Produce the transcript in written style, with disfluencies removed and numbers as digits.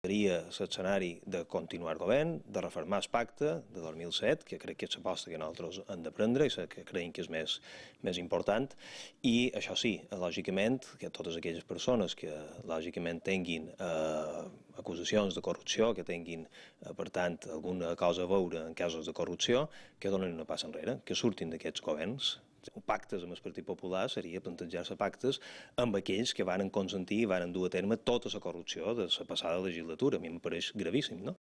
Seria l'escenari de continuar el govern, de reformar el pacte de 2007, que crec que és l'aposta que nosaltres hem de prendre i que creiem que és més important, i això sí, lògicament, que totes aquelles persones que lògicament tinguin acusacions de corrupció, que tinguin, per tant, alguna cosa a veure en casos de corrupció, que donen una passa enrere, que surtin d'aquests governs. Pactes amb el Partit Popular seria plantejar-se pactes amb aquells que varen consentir i varen dur a terme tota la corrupció de la passada legislatura. A mi em pareix gravíssim, no?